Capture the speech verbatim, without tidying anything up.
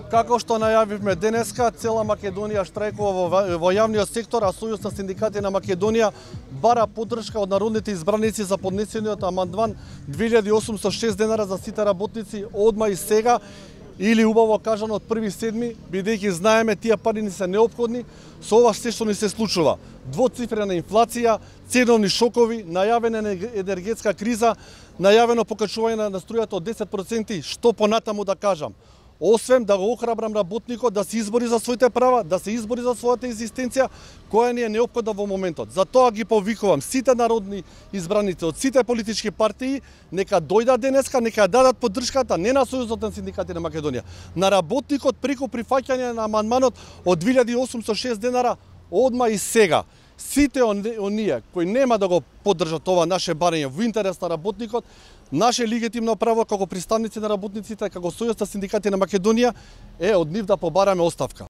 Како што најавивме денеска, цела Македонија штрајкува во, во јавниот сектор, а Сојуз на синдикати на Македонија бара поддршка од народните избраници за поднесениот амандман две илјади осумстотини и шест денара за сите работници одма и сега, или убаво кажано од први седми, бидејќи знаеме тие пари ни се неопходни со ова се што ни се случува. Двоцифрена инфлација, ценовни шокови, најавена енергетска криза, најавено покачување на струјата од десет проценти, што понатаму да кажам. Освен да го охрабрам работникот да се избори за своите права, да се избори за својата екзистенција, која ни е неопходна во моментот. Затоа ги повикувам сите народни избраници од сите политички партии, нека дојдат денеска, нека дадат поддршката не на Сојузот на синдикати на Македонија, на работникот преку прифаќање на амандманот од две илјади осумстотини и шест денара одма и сега. Сите оние кои нема да го поддржат ова наше барање во интерес на работникот, наше легитимно право како представници на работниците, како Сојуз на синдикати на Македонија е од нив да побараме оставка.